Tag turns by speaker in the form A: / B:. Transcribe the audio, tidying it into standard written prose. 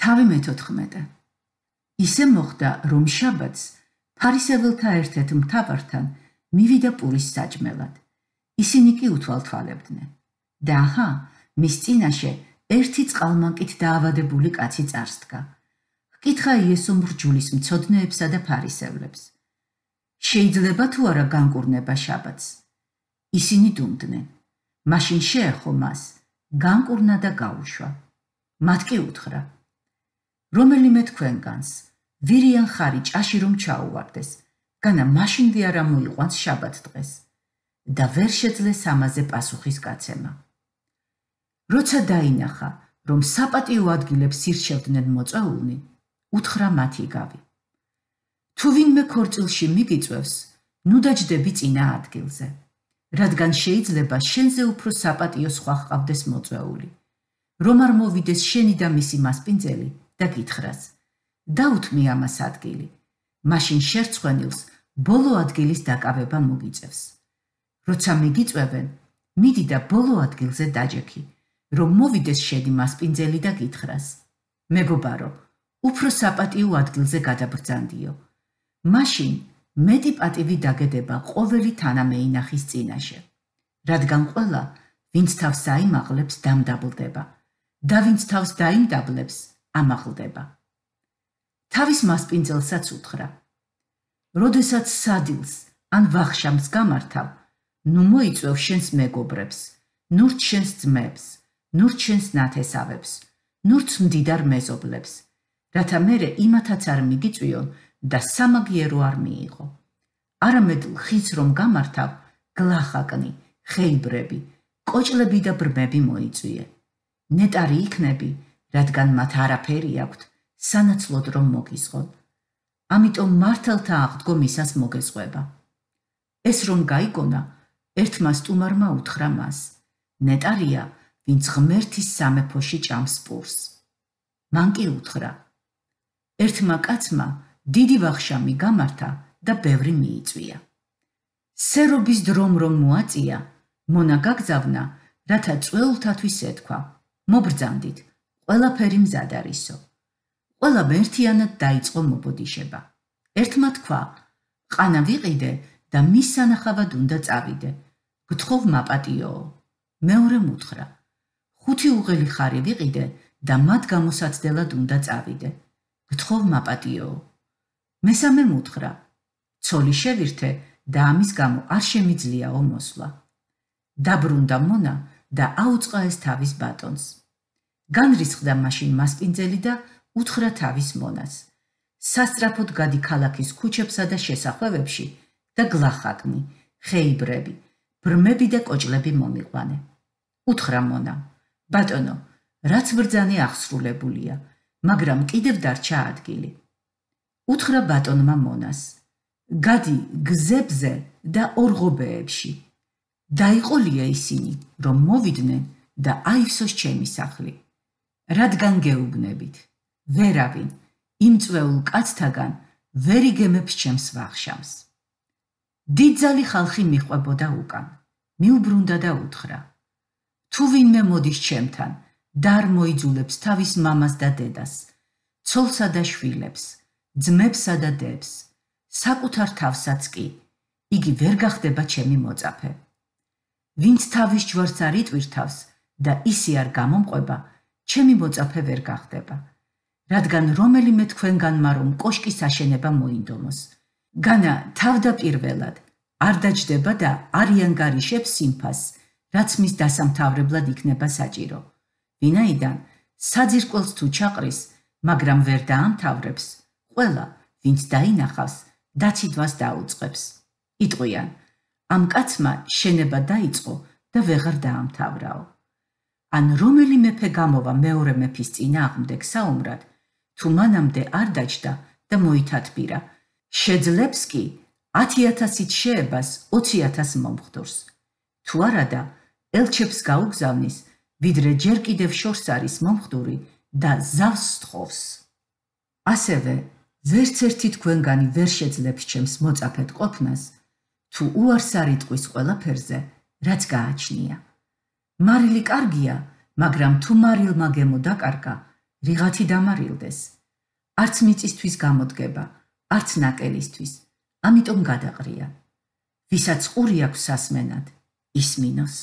A: თავი მე-14. ისე მოხდა, რომ შაბათს ფარისეველთა ერთ-ერთ მთავართან მივიდა პურის საჭმელად. ისინი კი უთვალთვალებდნენ. და აჰა, მის წინაშე ერთი წყალმანკით დაავადებული კაცი წარსდგა. ჰკითხა იესომ რჯულის მცოდნეებსა და ფარისევლებს. შეიძლება თუ არა განკურნება შაბათს? ისინი დუმდნენ. მაშინ შეეხო მას, განკურნა და გაუშვა. მათ კი უთხრა: რომელიმე თქვენგანს ვირიან ხარი ჭაში რომ ჩაუვარდეს, განა მაშინვე არ მოიყვანს შაბათ დღეს. და ვერ შეძლეს ამაზე პასუხის გაცემა. როცა დაინახა, რომ საპატიო ადგილებს ირჩევდნენ მოწვეულნი, უთხრა მათ იგავი: თუ ვინმე ქორწილში მიგიწვევს, ნუ დაჯდები წინა ადგილზე, რადგან შეიძლება შენზე უფრო საპატიო სხვა ჰყავდეს მოწვეული, რომ არ მოვიდეს შენი და მისი მასპინძელი და გითხრას: დაუთმი ამას ადგილი, მაშინ შერცხვენილს ბოლო ადგილის დაკავება მოგიწევს. როცა მიგიწვევენ, მიდი და ბოლო ადგილზე დაჯექი, რომ მოვიდეს შენი მასპინძელი და გითხრას: მეგობარო, უფრო საპატიო ადგილზე გადაბრძანდიო. მაშინ მეტი პატივი დაგედება ყოველი თანამეინახის წინაშე, რადგან ყველა, ვინც თავს აიმაღლებს, დამდაბლდება და ვინც თავს დაიმდაბლებს, ამაღლდება. თავის მასპინძელსაც უთხრა: როდესაც სადილს ან ვახშამს გამართავ, ნუ მოიწვევ შენს მეგობრებს, ნურც შენს ძმებს, ნურც შენს ნათესავებს, ნურც მდიდარ მეზობლებს, რათა მერე იმათაც არ მიგიწვიონ და სამაგიერო არ მიიღო. არამედ ხის რომ გამართავ, გლახაკნი, ხეიბრები, კოჭლები და ბრმები მოიწვიე. ნეტარი იქნები, რადგან მათ არაფერი აქვთ, სანაცვლოდ რომ მოგისხონ. ამიტომ მართალთა აღდგომისას მოგესყვება. ეს რომ გაიგონა, ერთმა სტუმარმა უთხრა მას: ნეტარია, ვინც ღმერთის სამეფოში ჭამს პურს. მან კი უთხრა: ერთმა კაცმა დიდი ვახშამი გამართა და ბევრი მიიწვია. სერობის დრომ რომ მოაწია, მონა გაგზავნა, რათა წვეულთათვის ეთქვა: მობრძანდით, ყველაფერი მზად არისო. ყველა ერთიანად დაიწყო მობოდიშება. ერთმა თქვა: ყანა ვიყიდე და მის სანახავად უნდა წავიდე. გთხოვ მაპატიოო. მეორემ უთხრა: 5 უღელი ხარი ვიყიდე და მათ გამოსაცდელად უნდა წავიდე. გთხოვ მაპატიოო. მესამემ უთხრა: ცოლი შევირთე და ამის გამო არ შემიძლიაო მოსვლა. დაბრუნდა მონა და აუწყა ეს თავის ბატონს. განრისხდა მაშინ მასპინძელი და უთხრა თავის მონას: სასწრაფოდ გადი ქალაქის ქუჩებსა და შესახვევებში და გლახაკნი, ხეიბრები, ბრმები და კოჭლები მომიყვანე. უთხრა მონამ: ბატონო, რაც ბრძანე აღსრულებულია, მაგრამ კიდევ დარჩა ადგილი. უთხრა ბატონმა მონას: გადი გზებზე და ორღობეებში. დაიყოლია ისინი, რომ მოვიდნენ და აივსოს ჩემი სახლი. რადგან გეუბნებით, ვერავინ იმ წვეულ კაცთაგან ვერ იგემებს ჩემს ვახშამს. დიდძალი ხალხი მიჰყვებოდა უკან, მიუბრუნდა და უთხრა: თუ ვინმე მოდის ჩემთან და არ მოიძულებს თავის მამას და დედას, ცოლსა და შვილებს, ძმებსა და დებს, საკუთარ თავსაც კი, იგი ვერ გახდება ჩემი მოწაფე. ვინც თავის ჯვარს არ იტვირთავს და ისი არ გამომყვება, ჩემი მოწაფე ვერ გახდება. რადგან რომელიმე თქვენგანმა რომ კოშკის აშენება მოინდომოს, განა თავდაპირველად არ დაჯდება და არ იანგარიშებს სიმფას, რაც მის დასამთავრებლად იქნება საჭირო. ვინაიდან საძირკველს თუ ჩაყრის, მაგრამ ვერ დაამთავრებს, ყველა, ვინც დაინახავს, დაციდვას დაუწყებს. იტყვიან: ამ კაცმა შენება დაიწყო და ვეღარ დაამთავრაო. ან რომელი მეფე გამოვა მეორე მეფის წინააღმდეგ საომრად, თუ მანამდე არ დაჯდა და მოითათბირა, შეძლებს კი 10,000-ით შეებას 20,000 მომხდორს. თუ არადა, ელჩებს გაუგზავნის, ვიდრე ჯერ კიდევ შორს არის მომხდური და ზავს სთხოვს. ასევე, ვერც ერთი თქვენგანი ვერ შეძლებს ჩემს მოწაფედ ყოფნას, თუ უარს არ იტყვის ყველაფერზე, რაც გააჩნია. მარილი კარგია, მაგრამ თუ მარილმა გემო დაკარგა, რიღათი დამარილდეს. არც მიწისთვის გამოდგება, არც ნაკელისთვის, ამიტომ გადაყრია. ვისაც ყური აქვს სასმენად, ისმინოს.